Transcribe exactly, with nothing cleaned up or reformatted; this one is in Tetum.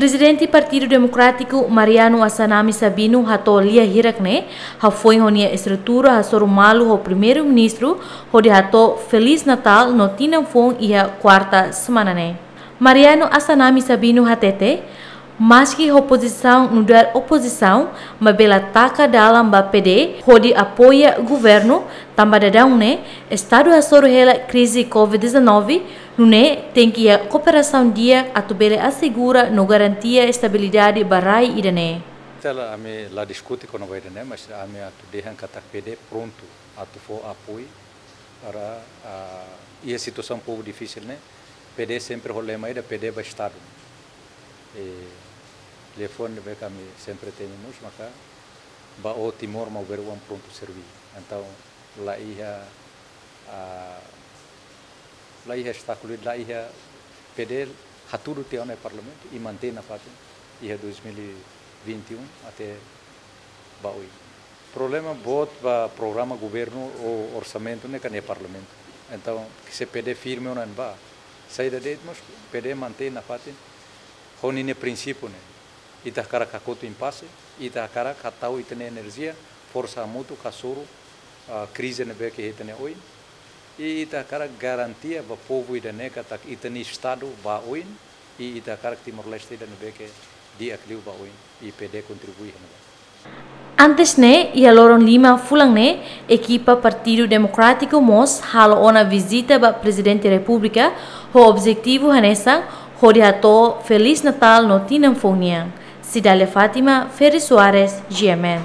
Prezidente Partidu Demokrátiku, Mariano Assanami Sabino, hato'o lia hirak ne'e hafoin ho nia estrutura hasoru malu ho Primeiru-Ministru hodi hato'o Feliz Natal no Tinan Foun iha kuarta semana ne'e. Mariano Assanami Sabino hatete, maski ho pozisaun nu'udar opozisaun, maibé la taka dalan ba P D hodi apoia governu, tanba daudaun ne'e estadu hasoru hela krize covid dezanove, nune'e tenke iha kooperasaun di'ak atu bele asegura no garantia estabilidade ba rai ida-ne'e. Ita la, ami la diskute kona-ba ida-ne'e, mas ami atu dehan katak P D prontu atu fó apoiu para, ah, iha situasaun povu difisil ne'e, P D sempre ho lema ida, P D ba estadu. E telefone ne'ebé ami sempre temi mós, maka ba ó Timor maubere oan prontu serví. Entaun, la iha, ah, la iha obstákulu, la iha, P D hatudu tiha ona iha parlamentu i mantein nafatin iha dois mil e vinte e um até ba oin. Problema boot ba programa governu ou orsamentu ne'e kan iha parlamentu. Entaun, se P D firme ona ba, saida de'it mós P D mantein nafatin ho ninia prinsípiu ne'e. Ita hakarak hakotu impase, ita hakarak hatau ita-nia enerjia, forsa hamutuk hasoru, ah, krize ne'ebé ke iha ita-nia oin. I ita hakarak garantia ba povu ida-ne'e katak ita-nia estadu ba oin, i ita hakarak Timor-Leste ida ne'ebé ke di'ak liu ba oin, i P D kontribui iha ne'ebá. Antes ne'e, iha loron lima fulan ne'e, ekipa Partidu Demokrátiku mós halo ona vizita ba Prezidente Repúblika, ho objetivu hanesan hodi hato'o Feliz Natal no Tinan Foun nian. Cidália Fátima, Ferry Soares, G M N.